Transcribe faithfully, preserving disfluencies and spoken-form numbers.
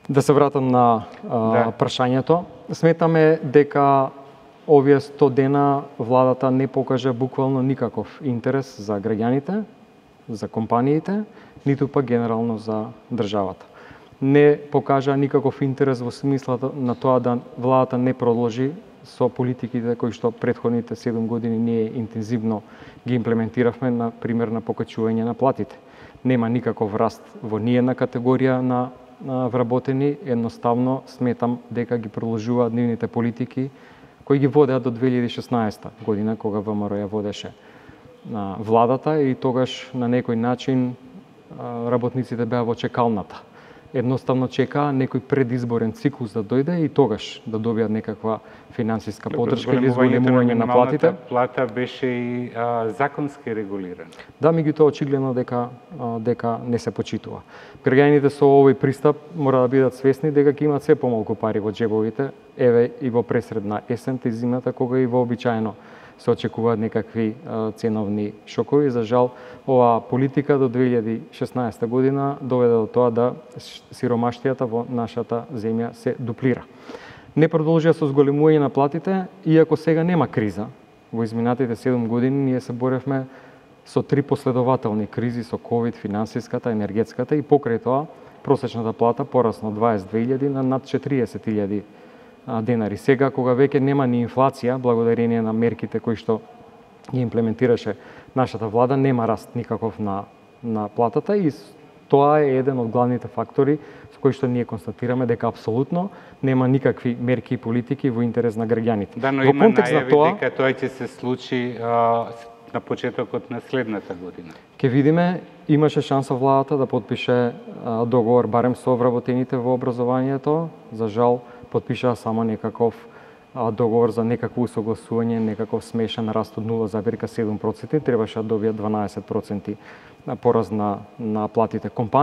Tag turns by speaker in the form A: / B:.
A: Да се вратам на а, да. прашањето. Сметаме дека овие сто дена владата не покажа буквално никаков интерес за граѓаните, за компаниите, ниту пак генерално за државата. Не покажа никаков интерес во смислата на тоа да владата не продолжи со политиките кои што претходните седум години ние интензивно ги имплементиравме, на пример на покачување на платите. Нема никаков раст во ниедна категорија на, на вработени, едноставно сметам дека ги продолжуваат нивните политики кои ги водеа до две илјади и шеснаесета година, кога ВМРО ја водеше на владата, и тогаш на некој начин работниците беа во чекалната. Едноставно чекаа некој предизборен циклус да дојде и тогаш да добијат некаква финансиска поддршка или зголемување на платите.
B: Плата беше и а, законски регулирана.
A: Да, меѓутоа очигледно дека а, дека не се почитува. Граѓаните со овој пристап мора да бидат свесни дека ќе имаат се помалку пари во џебовите, еве и во пресредна есента и зимата, кога и вообичаено се очекуваат некакви а, ценовни шокови. За жал, оваа политика до две илјади и шеснаесета година доведе до тоа да сиромаштијата во нашата земја се дуплира. Не продолжија со зголемување на платите, иако сега нема криза. Во изминатите седум години ние се боревме со три последователни кризи, со ковид, финансиската, енергетската, и покрај тоа просечната плата порасна од дваесет и две илјади на над четириесет илјади денари. Сега, кога веќе нема ни инфлација, благодарение на мерките кои што ги имплементираше нашата влада, нема раст никаков на, на платата, и тоа е еден од главните фактори со кои што ние констатираме дека апсолутно нема никакви мерки и политики во интерес на граѓаните.
B: Да, но
A: во
B: има
A: контекст
B: најави
A: тоа,
B: дека тоа ќе се случи а, на почетокот на следната година.
A: Ке видиме, имаше шанса владата да подпише а, договор барем со вработените во образованието. За жал, подпишаа само некаков а, договор за некакво усогласување, некаков смешен раст од нула зарез седум проценти, требаше да добијат дванаесет проценти пораз на, на платите компании.